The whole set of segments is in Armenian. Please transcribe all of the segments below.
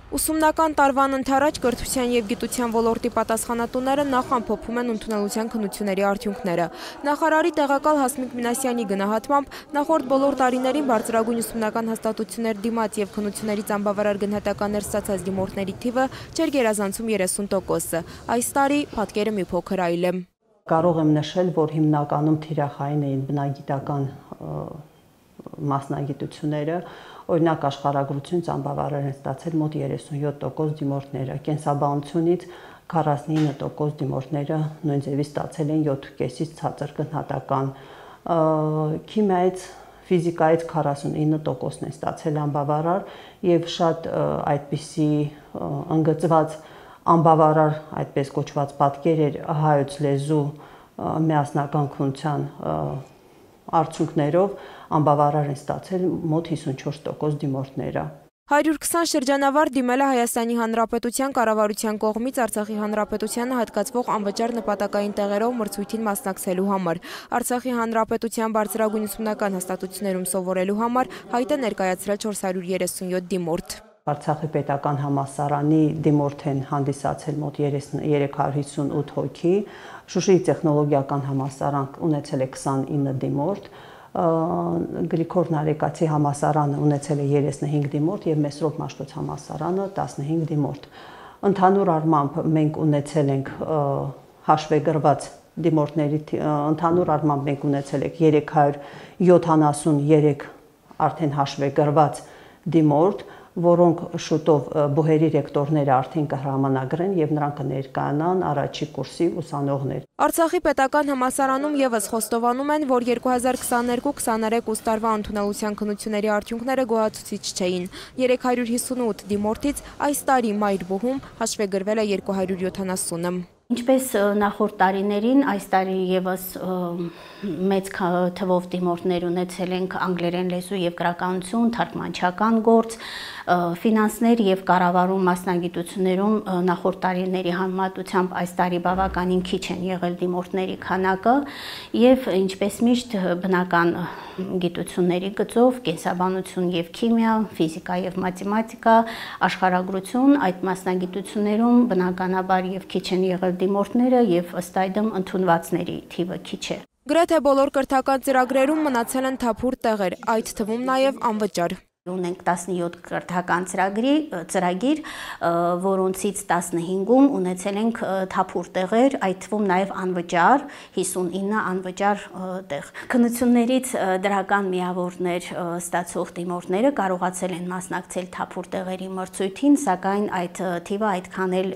Ուսումնական տարվան ընթരാճ կրթության և գիտության ոլորտի պատասխանատուները նախ ամփոփում են ընդունելության քննությունների արդյունքները։ Նախարարի տեղակալ Հասմիկ Մինասյանի գնահատմամբ նախորդ բոլոր տարիներին բարձրագույն ուսումնական հաստատություններ դիմաց և քննություններից անբավարար գնահատականներ ստացած դիմորդների թիվը չէր գերազանցում 30%-ը։ Այս տարի պատկերը մի փոքր այլ է։ Կարող եմ նշել, որ հիմնականում թիրախային էին բնագիտական մասնագիտությունները, օրինակ աշխարհագրությունից անբավարար են ստացել մոտ 37% դիմորդները, կենսաբանությունից 49% դիմորդները նույն ձևի ստացել են 7.5-ից ցածր գնահատական, քիմիայից, ֆիզիկայից 49%-ն են ստացել անբավարար եւ շատ այդպիսի ընդգծված անբավարար այդպես կոչված պատկերեր հայոց լեզու միասնական քննության արդյունքներով անբավարար են ստացել մոտ 54% դիմորդները։ 120 շրջանավար դիմել է Հայաստանի Հանրապետության կառավարության կողմից Արցախի Հանրապետությանը հատկացվող անվճար նպատակային տեղերով մրցույթին մասնակցելու համար։ Արցախի Հանրապետության բարձրագույն ուսումնական հաստատություններում սովորելու համար հայտ է ներկայացրել 437 դիմորդ։ Արցախի պետական համալսարանի դիմորդ են հանդիսացել մոտ 358 հոգի, Շուշիի տեխնոլոգիական համալսարան ունեցել է 29 դիմորդ, Գրիգոր Նարեկացի համալսարանը ունեցել է 35 դիմորդ եւ Մեսրոպ Մաշտոց համալսարանը 15 դիմորդ։ Ընդհանուր առմամբ մենք ունեցել ենք հաշվեգրված դիմորդների ընդհանուր առմամբ մենք ունեցել ենք 373 արդեն հաշվեգրված դիմորդ, որոնք շուտով բուհերի ռեկտորները արդեն կհրամանագրեն եւ նրանք կներկայանան առաջի կուրսի ուսանողներ։ Արցախի պետական համալսարանում եւս խոստովանում են, որ 2022-23 ուստարվա ընդունելության քննությունների արդյունքները գոհացուցիչ չէին։ 358 դիմորդից այս տարի մայր բուհում հաշվեգրվել է 270-ը։ Ինչպես նախորդ տարիներին, այս տարի եւս մեծ թվով դիմորդներ ունեցել ենք անգլերեն լեզու եւ գրականություն, թարգմանչական գործ, ֆինանսներ եւ կառավարում մասնագիտություններում նախորդ տարիների համեմատությամբ այս տարի բավականին քիչ են եղել դիմորդների քանակը եւ ինչպես միշտ բնական գիտությունների գծով, կենսաբանություն եւ քիմիա, ֆիզիկա եւ մաթեմատիկա, աշխարհագրություն, այդ մասնագիտություններում բնականաբար եւ քիչ են եղել դիմորդները եւ ըստ այդմ ընդունվածների թիվը քիչ է։ Գրեթե բոլոր կրթական ծրագրերում մնացել են թափուր տեղեր, այդ թվում նաեւ անվճար։ Ունենք 17 կրթական ծրագիր, որոնցից 15-ում ունեցել ենք թափուր տեղեր, այդ թվում նաև անվճար, 59 անվճար տեղ։ Քննություններից դրական միավորներ ստացող դիմորդները կարողացել են մասնակցել թափուր տեղերի մրցույթին, սակայն այդ թիվը այդքան էլ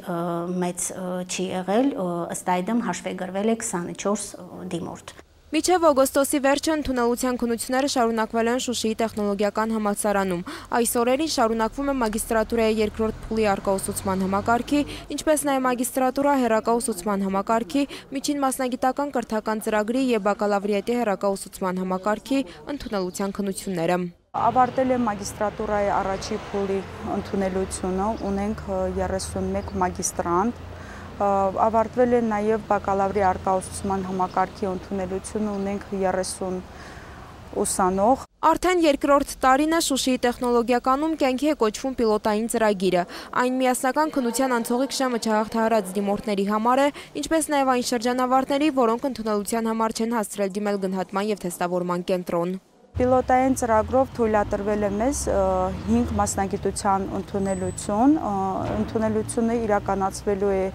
մեծ չի եղել, ըստ այդմ հաշվեգրվել է 24 դիմորդ։ Մինչև օգոստոսի վերջը ընդունելության քննությունները շարունակվել են Շուշիի տեխնոլոգիական համալսարանում։ Այս օրերին շարունակվում է մագիստրատուրայի երկրորդ փուլի առկաուսուցման համակարգի, ինչպես նաև մագիստրատուրա հեռակաուսուցման համակարգի, միջին մասնագիտական կրթական ծրագրի եւ բակալավրիատի հեռակաուսուցման համակարգի ընդունելության քննությունները։ Ավարտել է մագիստրատուրայի առաջի փուլի ընդունելությունը, ունենք 31 մագիստրանտ։ Ավարտվել է նաև բակալավրի առկաուսուցման համակարգի ընդունելությունը, ունենք 30 ուսանող։ Արդեն երկրորդ տարին է Շուշիի տեխնոլոգիականում կյանքի է կոչվում պիլոտային ծրագիրը։ Այն միասնական քննության անցողիկ շեմը չհաղթահարած դիմորդների համար է, ինչպես նաև այն շրջանավարտների, որոնք ընդունելության համար չեն հասցրել դիմել գնահատման եւ թեստավորման կենտրոն։ Պիլոտային ծրագրով թույլատրվել է մեզ 5 մասնագիտության ընդունելություն։ Ընդունելությունը իրականացվելու է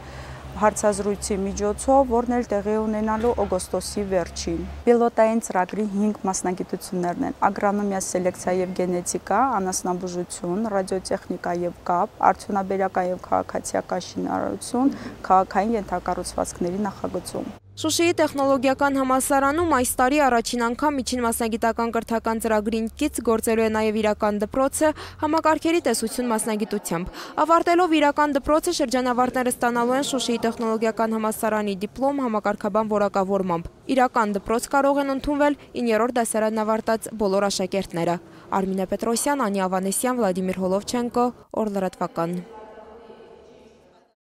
հարցազրույցի միջոցով, որն էլ տեղի ունենալու օգոստոսի վերջին։ Պիլոտային ծրագրի 5 մասնագիտություններն են՝ ագրոնոմիա, սելեկցիա եւ գենետիկա, անասնաբուժություն, ռադիոտեխնիկա եւ կապ, արդյունաբերական եւ քաղաքացիական շինարարություն, քաղաքային ենթակառուցվածքների նախագծում։ Շուշիի տեխնոլոգիական համալսարանում այս տարի առաջին անգամ միջին մասնագիտական կրթական ծրագրին կից գործելու է նաև իրական դպրոցը համակարգերի տեսություն մասնագիտությամբ։ Ավարտելով իրական դպրոցը շրջանավարտները ստանալու են Շուշիի տեխնոլոգիական համալսարանի դիպլոմ համակարգաբան որակավորմամբ։ Իրական դպրոց կարող են ընդունվել 9-րդ դասարանն ավարտած բոլոր աշակերտները։ Արմինե Պետրոսյան, Անի Ավանեսյան, Վլադիմիր Հոլովչենկո, Օր լրատվական։